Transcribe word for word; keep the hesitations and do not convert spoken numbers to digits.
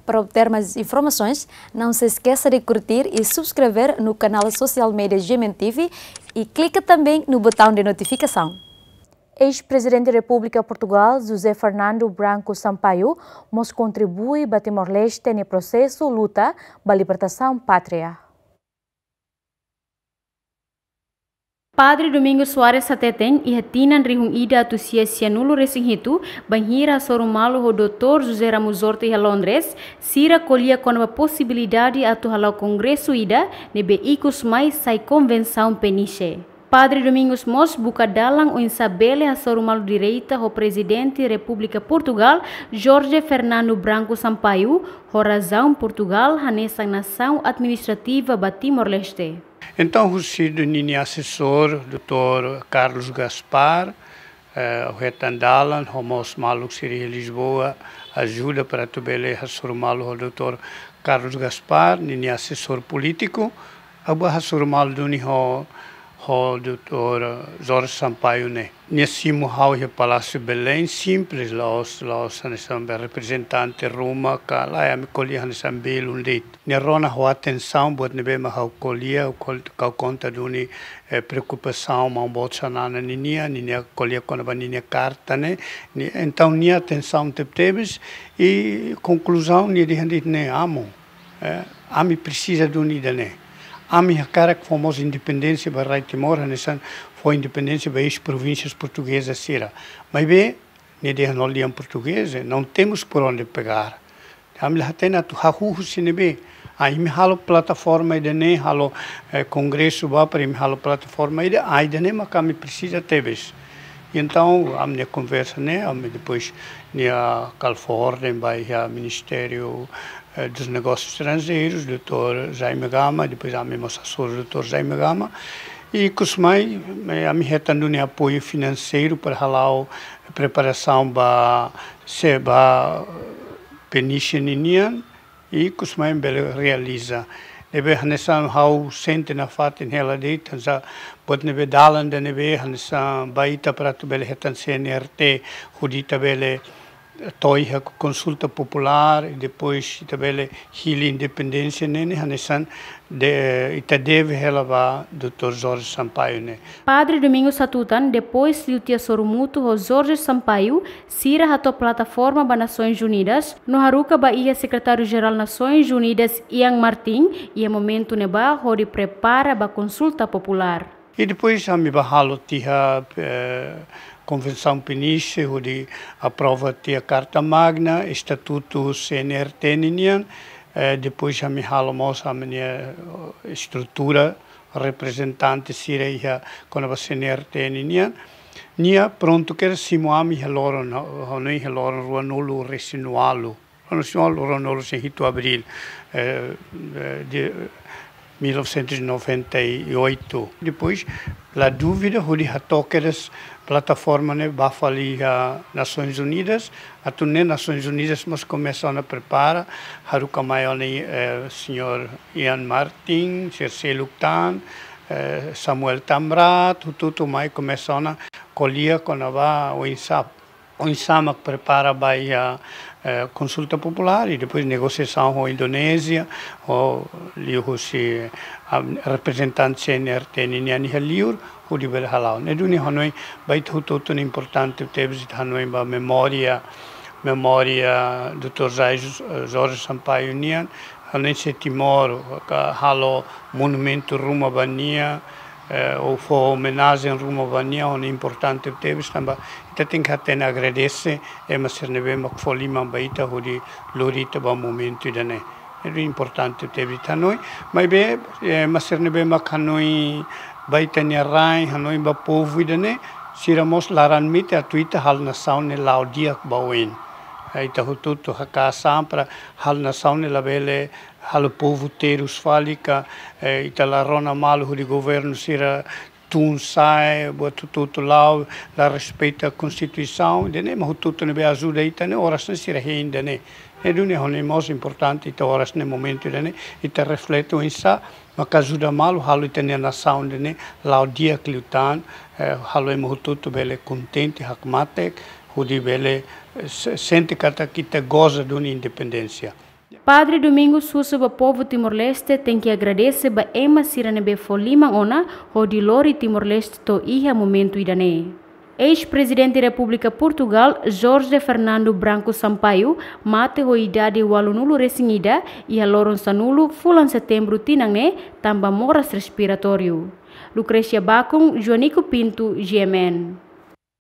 Para obter mais informações, não se esqueça de curtir e subscrever no canal social media G M N T V e clica também no botão de notificação. Eis-Prezidente Repúblika Portugal, José Fernando Branco Sampaio, mós kontribui ba Timor-Leste nia prosesu luta ba libertasaun pátria. Padre Domingos Soares hateten, iha tinan rihun ida atus sia sianulu-resin-hitu, bainhira hasoru malu ho Doutór José Ramos-Horta iha Londres, sira ko'alia kona-ba posibilidade atu hala'o kongresu ida ne'ebé ikus mai sai Konvensaun Peniche. Padre Domingos mós buka dalan oinsá bele hasoru malu direita ho Prezidente Repúblika Portugal, Jorge Fernando Branco Sampaio, ho razaun Portugal hanesan nasaun administrativa ba Timor-Leste. Entaun, husi ninia asesór, Doutór Carlos Gaspar, eh, ha'u hetan dalan, ho mós maluk sira iha Lisboa, ajuda para atu bele hasoru malu ho Doutór Carlos Gaspar, ninia asesór polítiku, ha'u bá hasoru malu duni ho, ho Doutór Jorge Sampaio ne'e. Nia simu ha'u iha Palásiu Belém, simples, la'ós, la'ós hanesan be reprezentante ruma ka lae, ami ko'alia hanesan belun de'it. Nia rona ha'u atensaun buat ne'ebé mak ha'u ko'alia, ha'u kol-, ha'u konta duni, eh, preokupasaun maun boot Xanana ninian, ninia ko'alia kona-ba ninia karta ne'e, ni, entaun nia atensaun tebetebes, i konkluzaun nia dehan de'it ne'e, Amu, eh, ami presiza duni ida-ne'e. Ami hakarak fó mós independénsia ba rai Timor, hanesan fó independénsia ba eis-provínsias portugezas sira. Maibé, nia dehan ho lian portugés, eh, não temos por onde pegar. Ami la hatene atu hahú husi ne'ebé. Ah, imi halo plataforma ida-ne'e, halo, eh, kongresu ba para imi halo plataforma ida, ah, ida-ne'e mak ami presiza tebes. I entaun, ami-nia konversa ne'e, ami depois nia kal fó orden ba iha Ministériu, eh, dos Negósius Estranjeirus, Doutór Jaime Gama, depois ami mós hasoru Doutór Jaime Gama. I ikus mai, eh, ami hetan duni apoiu finanseiru para hala'o preparasaun ba, se ba Peniche ninian, i ikus mai bele realiza. Ne'ebé hanesan ha'u sente nafatin hela de'it, hanesan buat ne'ebé dalan ida ne'ebé, hanesan ba ita para atu bele hetan C N R T, hodi ita bele to'o iha konsulta populár, i depois ita bele hili independénsia ne'e, ne'e hanesan de, ita deve hela ba Doutór Jorge Sampaio ne'e. Padre Domingos hatutan, depois liu tiha hasoru mutu ho Jorge Sampaio, sira hato'o plataforma ba Nasoins Unidas, no haruka ba iha Sekretáriu-Jerál Nasoins Unidas, Ian Martin, iha momentu ne'ebá hodi prepara ba konsulta populár. I depois ami bá halo tiha, eh, Konvensaun Peniche, hodi aprova tiha Karta Magna, Estatutu C N R T ninian, eh, depois ami halo mós ami-nia, eh, estrutura, reprezentante sira iha kona-ba C N R T ninian. Nia prontu kedas simu ami iha loron, ha'u hanoin iha loron ruanulu-resin-ualu. Ruanulu-resin-ualu, ruanulu-resin-hitu Abríl, eh, eh, de mil novecentos e noventa e oito. Depois, la dúvida, hodi hato'o kedas plataforma ne'e bá fali iha Nasoins Unidas, atu nune'e Nasoins Unidas mós komesa ona prepara, haruka mai ona, eh, señór Ian Martin, sira seluk tan, eh, Samuel Tamrat, hotu-hotu mai komesa ona ko'alia kona-ba oinsá, oinsá mak prepara ba iha, eh, konsulta populár i depois negosiasaun ho Indonézia, ho liuhusi, ah, reprezentante C N R T ninian iha liur, hodi bele hala'o. Ne'e duni hanoin ba ita hotu-hotu ne'e importante tebes ita hanoin ba memória, memória Doutór Jai-, eh, Jorge Sampaio nian, hanoin se Timor, ka halo monumentu ruma ba nia, eh, ou fó omenajen ruma ba nia, hanoin importante tebes tanba ita tenke hatene agradese ema sira ne'ebé mak fó liman ba ita hodi lori ita ba momentu ida-ne'e. Ne'e importante tebes ita hanoin. Maibé, eh, ema sira ne'ebé mak hanoin ba ita-nia rain, hanoin ba povu ida-ne'e, sira mós laran-metin atu ita halo nasaun ne'e la'o di'ak ba oin. Eh, ita hotu-hotu haka'as an para halo nasaun ne'e labele halo povu terus fali ka, eh, ita la rona malu hodi governu sira tun sa'e, buat hotu-hotu la'o, la respeita Konstituisaun, ida-ne'e mak hotu-hotu ne'ebé ajuda ita ne'e, oras ne'e sira hein ida-ne'e. Ne'e duni hanoin mós importante ita oras ne'e momentu ida-ne'e, ita reflete oinsá maka ajuda malu halo ita-nia nasaun ida-ne'e la'o di'ak liután, eh, halo ema hotu-hotu bele kontente, hakmatek, hodi bele, eh, se-, sente katak ita goza duni independénsia. Padre Domingos husu ba povu Timor-Leste tenke agradese ba ema sira ne'ebé fó liman ona hodi lori Timor-Leste to'o iha momentu ida-ne'e. Eis-Prezidente Repúblika Portugal, Jorge Fernando Branco Sampaio, mate ho idade ualunulu resin ida, iha loron sanulu fulan Setembru tinan ne'e, tanba moras respiratóriu. Lucrecia Bacon, Joanico Pinto, G M N.